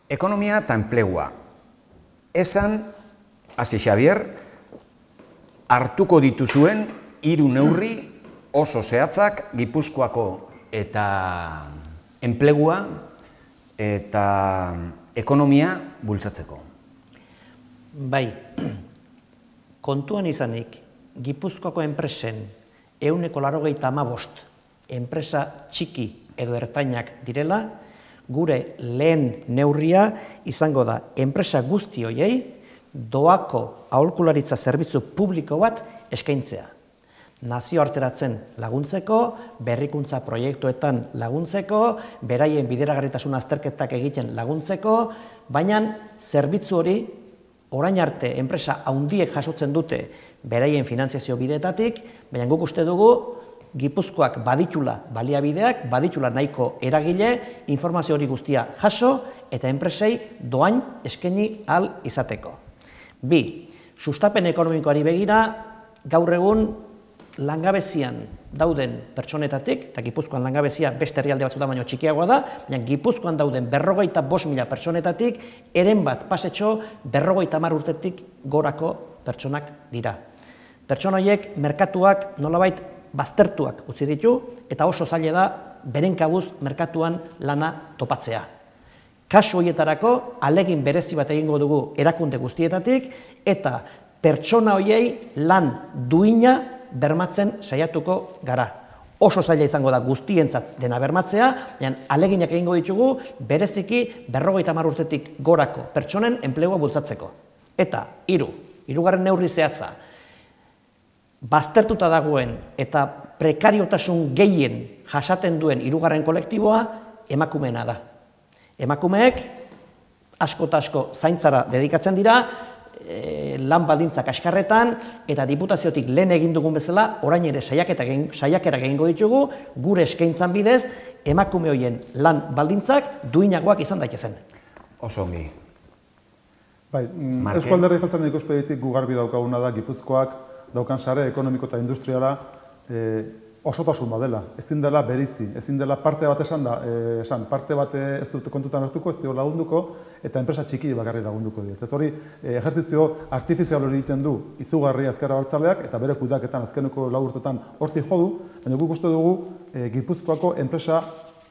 Ekonomia eta enplegua. Esan, hasi Xabier, hartuko dituzuen 3 neurri oso zehatzak Gipuzkoako eta enplegua eta ekonomia bultzatzeko. Bai, kontuan izanik, Gipuzkoako enpresen 185 enpresa txiki edo ertainak direla, gure lehen neurria izango da enpresa guzti horiei doako aholkularitza zerbitzu publiko bat eskaintzea. Nazioarteratzen laguntzeko, berrikuntza proiektuetan laguntzeko, beraien bideragarritasun azterketak egiten laguntzeko, baina zerbitzu hori orain arte enpresa handiek jasotzen dute beraien finantziazio bideetatik, baina guk uste dugu Gipuzkoak baditula baliabideak, baditula nahiko eragile, informazio hori guztia jaso eta enpresei doain eskaini ahal izateko. 2. Sustapen ekonomikoari begira, gaur egun langabezian dauden pertsonetatik, eta Gipuzkoan langabezia beste herrialde batzuetan baino txikiagoa da, baina Gipuzkoan dauden 55.000 pertsonetatik, eren bat pasetxo 50 urtetik gorako pertsonak dira. Pertsona horiek merkatuak nolabait baztertuak utzi ditu, eta oso zaila da beren kabuz merkatuan lana topatzea. Kasu horietarako, ahalegin berezi bat egingo dugu erakunde guztietatik, eta pertsona horiei lan duina bermatzen saiatuko gara. Oso zaila izango da guztientzat dena bermatzea, baina ahaleginak egingo ditugu bereziki 50 urtetik gorako pertsonen enplegua bultzatzeko. Eta, 3. Hirugarren neurri zehatza, baztertuta dagoen eta prekariotasun gehien jasaten duen 3. kolektiboa emakumeena da. Emakumeek asko eta asko zaintzara dedikatzen dira, lan baldintzak kaskarretan, eta diputaziotik lehen egin dugun bezala, orain ere saiakera egingo ditugu, gure eskaintzan bidez, emakume horien lan baldintzak duinagoak izan daitezen. Oso ongi. Bai, Eusko Alderdi Jeltzalearen ikuspegitik gu garbi daukaguna da Gipuzkoak daukan sare ekonomiko eta industriala osotasun badela, ezin dela berizi, ezin dela parte bat parte bat ez dute kontutan hartuko, ez dio lagunduko, eta enpresa txiki bakarri lagunduko diet. Ez hori, ejerzizio artifizial hori egiten du izugarri Ezker Abertzaleak, eta bere kudeaketan azkeneko 4 urtetan hortik jodu, baina guk uste dugu Gipuzkoako enpresa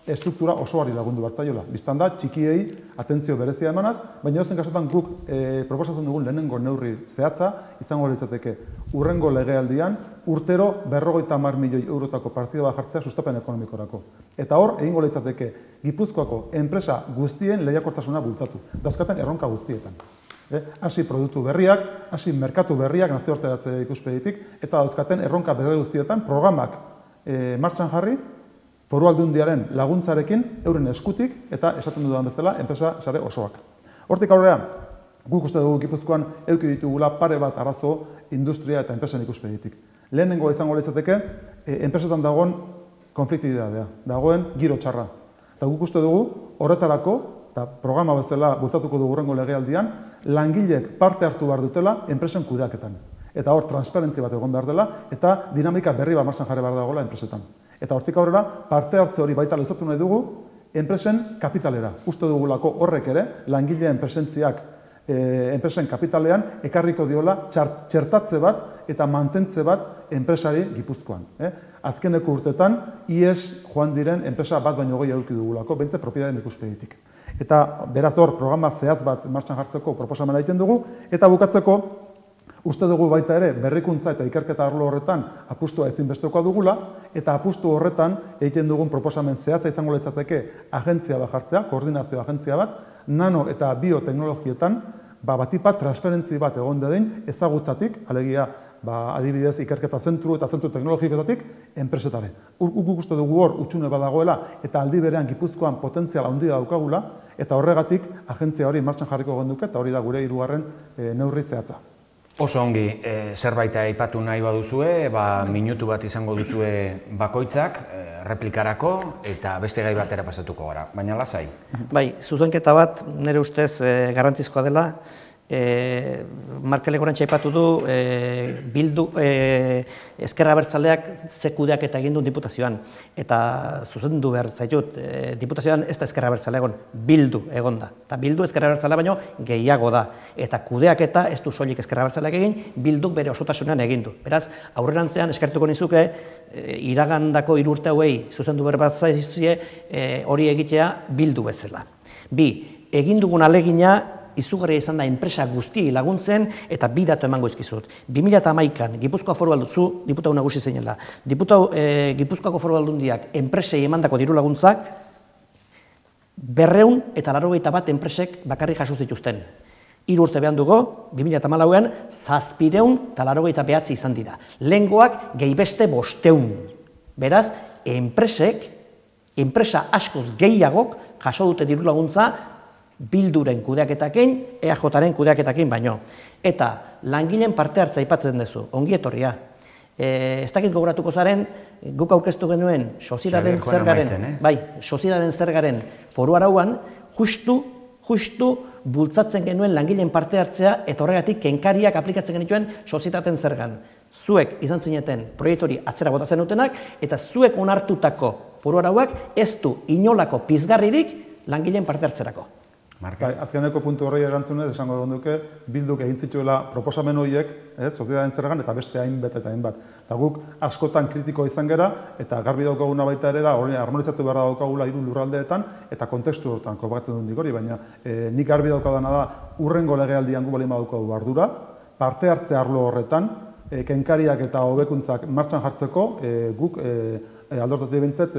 estruktura osoari lagundu bartzaiola. Bistan da, txikiei atentzio berezia emanaz, baina edozein kasutan guk proposatzen dugun lehenengo neurri zehatza izango litzateke hurrengo legealdian urtero 50 milioi eurotako partida bat jartzea sustapen ekonomikorako. Eta hor, egingo litzateke Gipuzkoako enpresa guztien lehiakortasuna bultzatu, dauzkaten erronka guztietan. Hasi produktu berriak, hasi merkatu berriak nazioarteratze ikuspegitik, eta dauzkaten erronka berri guztietan programak martxan jarri, Foru Aldundiaren laguntzarekin, euren eskutik, eta esaten dudan bezala, enpresa sare osoak. Hortik aurrera, guk uste dugu Gipuzkoan eduki ditugula pare bat arazo industria eta enpresen ikuspegitik. Lehenengo izango litzateke, enpresetan dagoen konfliktibitatea, dagoen giro txarra. Eta guk uste dugu, horretarako, eta programa bezala bultzatuko dugu hurrengo legealdian, langileek parte hartu behar dutela enpresen kudeaketan. Eta hor, transparentzia bat egon behar dela, eta dinamika berri bat martxan jarri behar dagoela enpresetan. Eta hortik aurrera, parte hartze hori baita luzatu nahi dugu, enpresen kapitalera. Uste dugulako horrek ere, langileen presentziak enpresen kapitalean, ekarriko diola txertatze bat eta mantentze bat enpresari Gipuzkoan. Azkeneko urtetan, IES joan diren enpresa bat baino gehi eduki dugulako, bentze propietateen ikuspegitik. Eta beraz hor, programa zehatz bat martxan jartzeko proposamena egiten dugu, eta bukatzeko, uste dugu baita ere berrikuntza eta ikerketa arlo horretan apustua ezinbestekoa dugula, eta apustu horretan egiten dugun proposamen zehatza izango litzateke agentzia bat jartzea, koordinazio agentzia bat, nano eta bioteknologietan batipat transferentzi bat egon dadin ezagutzatik, alegia adibidez ikerketa zentru eta zentru teknologikoetatik enpresetare. Guk uste dugu hor utxune badagoela eta aldi berean Gipuzkoan potentzial handia daukagula, eta horregatik agentzia hori martxan jarriko genduke, eta hori da gure 3. Neurri zehatza. Oso ongi, zerbait aipatu nahi baduzue, minutu bat izango duzue bakoitzak, replikarako, eta beste gai batera pasatuko gara, baina lasai. Bai, zuzenketa bat nire ustez garrantzizkoa dela, Markel Egorantxe aipatu du Bildu Ezker Abertzaleak ze kudeaketa egin du diputazioan. Eta zuzendu behar zaitut, diputazioan ez da Ezker Abertzale egon, Bildu egon da. Eta Bildu Ezker Abertzale baino gehiago da. Eta kudeaketa ez du soilik Ezker Abertzaleak egin, Bilduk bere osotasunean egin du. Beraz, aurrerantzean eskertuko nizuke, iragandako 3 urte hauei zuzendu behar bat zaizuzie hori egitea Bildu bezala. Bi, egin dugun alegina izugarria izan da enpresa guztiei laguntzen eta 2 datu emango izkizut. 2011an Gipuzkoa Foru Aldundiak, diputatu nagusi zeinela, Gipuzkoako Foru Aldundiak enpresei emandako diru laguntzak 281 enpresek bakarrik jaso zituzten. 3 urte behan dugu, 2014an 789 izan dira. Lehengoak gehi beste 500. Beraz, enpresa askoz gehiagok jaso dute diru laguntza Bilduren kudeaketakin, EAJaren kudeaketakin baino. Eta langileen parte hartza aipatzen duzu, ongi etorria. Ez dakit gogoratuko zaren, guk aurkeztu genuen soziedaden zergaren foru arauan, justu bultzatzen genuen langileen parte hartzea eta horregatik kenkariak aplikatzen genituen sozietaten zergan. Zuek izan zineten proiektori atzera botatzen dutenak eta zuek onartutako foru arauak ez du inolako pizgarririk langileen parte hartzerako. Azkeneko puntu horrei erantzunez, esango duke, Bilduk egin zituela proposamen horiek, sozietateen zergan eta beste hainbat eta hainbat. Eta guk askotan kritiko izan gera, eta garbi daukaguna baita ere da, hori harmonizatu behar daukagula 3 lurraldeetan, eta kontestu horretan kopatzen dut hori, baina nik garbi daukadana da, urrengo legealdian gu balima daukagu ardura, parte hartze arlo horretan, kenkariak eta hobekuntzak martxan jartzeko, guk aldortatik bintzet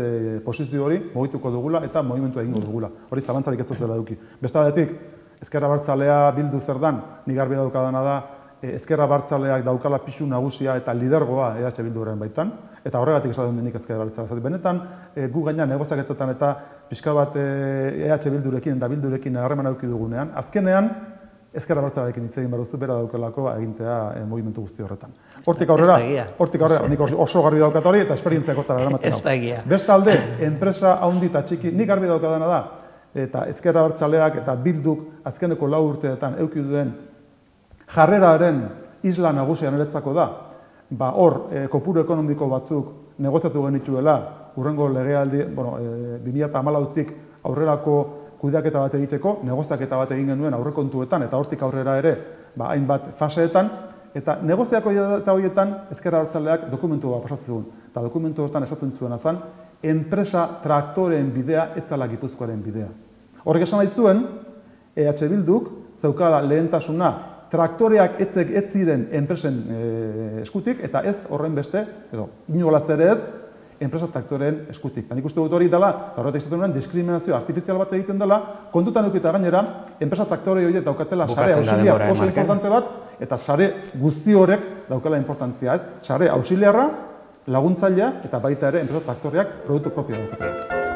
posizio hori mogituko dugula eta movimentu egingo dugula. Hori zalantzarik ez dutela eduki. Beste aldetik, Ezker Abertzalea Bildu zer dan, nik garbi daukadana da, Ezker Abertzaleak daukala pisu nagusia eta lidergoa EH Bilduren baitan, eta horregatik esaten denik Ezker Abertzalea. Benetan, gu gaina negoziaketetan eta pixka bat EH Bildurekin eta Bildurekin harreman eduki dugunean, azkenean, Ezker Abertzaleekin hitz egin behar duzu, bera daukelako egintea movimentu guzti horretan. Hortik aurrera, nik oso garbi daukat hori eta esperientziak hortara eramaten hau. Beste alde, enpresa handi eta txiki, nik garbi daukadana da, eta Ezker Abertzaleak eta Bilduk azkeneko 4 urteetan eduki duen jarreraren isla nagusia niretzako da, hor kopuru ekonomiko batzuk negoziatu genituela, urrengo legealdi, 2014tik aurrerako kudeaketa bat egiteko, negoziaketa bat egin genuen aurrekontuetan eta hortik aurrera ere hainbat faseetan, eta negoziaketa horietan Ezker Abertzaleak dokumentu bat pasatzen duen. Eta dokumentu horretan esaten zuena zen, enpresa traktoreen bidea ez zela Gipuzkoaren bidea. Horrek esan nahi zuen, EH Bilduk zeukala lehentasuna traktoreak ez ziren enpresen eskutik, eta ez horren beste, edo inolaz ere ez, enpresa traktoreen eskutik. Nik uste dut hori dela, horretak izaten duen diskriminazio artifizial bat egiten dela, kontutan eukita gainera, enpresa traktore horiek daukatela sare auxiliar oso importante bat, eta sare guzti horrek daukala importantzia ez. Sare auxiliarra, laguntzailea, eta baita ere enpresa traktoreak produktu propio daukatela.